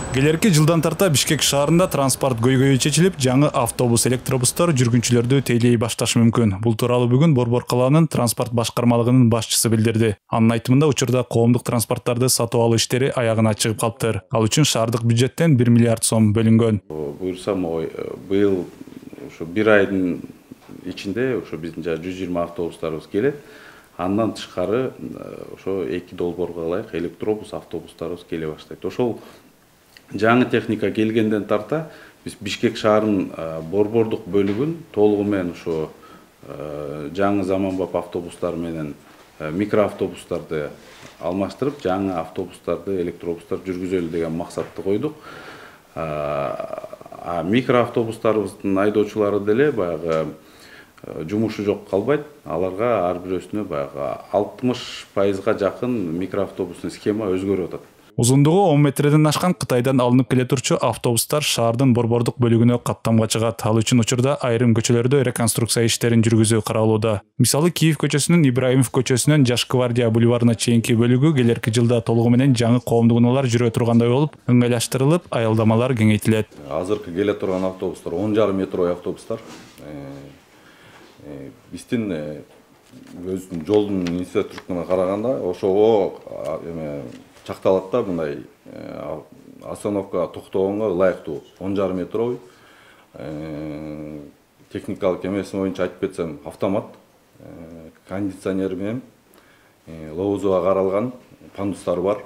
Келерки жылдан тарта Бишкек шаарында транспорт көйгөйү чечилип, жаңы автобус, электробустар жүргүнчүлөрдү тейлей башташы мүмкүн. Бул тууралуу бүгүн Борбор калаанын транспорт башкармалыгынын башчысы билдирди. Анын айтымында учурда коомдук транспорттарды сатып алуу иштери аягына чыгып калыптыр. Ал үчүн шаардык бюджеттен 1 миллиард сом бөлүнгөн. Буюрсам, быйыл ошо 1 айдын ичинде ошо биздин 120 автобустарыбыз келет. Андан тышкары ошо 2 долбоорго ылайык электробус, автобустарыбыз келе баштайт. Ошол жаңы техника келгенден тарта биз Бишкек шаарынын борбордук бөлүгүн толугу менен ошо жаңы заманбап автобустар менен микроавтобустарды алмаштырып, жаңы автобустарды, электробустар жүргүзөлү деген максатты койдук. Микроавтобустарыбыздын айдоочулары деле баягы жумушу жок калбайт. Аларга ар бирөөсүнө баягы 60% жакын микроавтобустун схема өзгөрүп атат. Узундугу 10 метрден ашкан Кытайдан алынып келе турчу автобустар шаардын борбордук бөлүгүнө каттамга чыгат. Ал үчүн учурда айрым көчөлөрдө реконструкция иштерин жүргүзүү каралууда. Мисалы, Киев көчөсүнүн Ибраимов көчөсүнөн Жаш гвардия бульварына чейинки бөлүгү келерки жылда толугу менен жаңы коомдук унаалар жүрө тургандай болуп, ыңгайлаштырылып, аялдамалар кеңейтилет. Азыркы келе турган автобустар 10,5 метрой автобустар. Биздин өзүнүн жолдун инфраструктуруна караганда ошого чакталат да, мындай остановка токтогонго ылайыктуу 10,5 метрой. Техникалык эмеси боюнча айтып кетсем, автомат, кондиционер менен лоозуга каралган пандустар бар.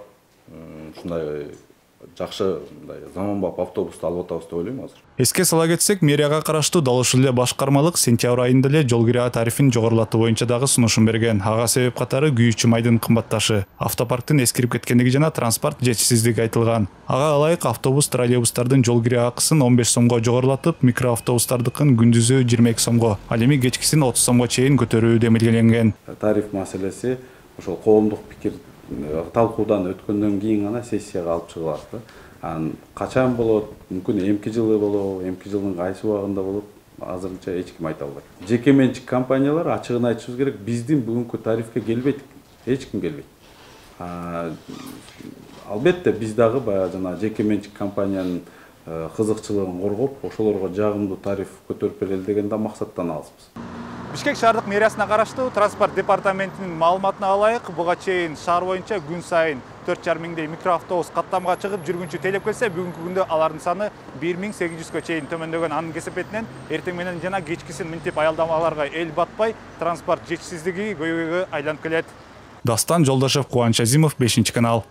Ушундай жакшы заманбап автобусту алып атабыз деп ойлойм азыр. Эске сала кетсек, мэрияга караштуу дал ушул эле башкармалык сентябрь айында эле жол кираа тарифин жогорулатуу боюнча дагы сунушун берген. Ага себеп катары күйүүчү майдын кымбатташы, автопарктын эскирип кеткендиги жана транспорт жетишсиздиги айтылган. Ага ылайык автобус, троллейбустардын жол кираа акысын 15 сомго жогорулатып, микроавтобустардыкын күндүзү 22 сомго, ал эми кечкисин 30 сомго чейин көтөрүү демилгеленген. Тариф маселеси ошол коомдук пикир талкуудан өткөндөн кийин гана сессияга алып чыгылат. Качан болот, мүмкүн эмки жылы болобу, эмки жылдын кайсы убагында болот, азырынча эч ким айта албайт. Жеке менчик компаниялар, ачыгын айтышыбыз керек, биздин бүгүнкү тарифке келбейт, эч ким келбейт. Албетте биз дагы баягы жана жеке менчик компаниянын кызыкчылыгын коргоп, ошолорго жагымдуу тариф көтөрүп берели деген да максаттан алысбыз. Бишкек шаардык мэриясына караштуу транспорт департаментинин маалыматына ылайык, буга чейин шаар боюнча күн сайын 4,5 миңдей микроавтобус каттамга чыгып жүргүнчү тейлеп келсе, бүгүнкү күндө алардын саны 1800га чейин төмөндөгөн. Анын кесепетинен эртең менен жана кечкисин мынтип аялдамаларга эл батпай, транспорт жетишсиздиги көйгөйгө айланып келет. Дастан Жолдошев, Кубаныч Азимов, 5 канал.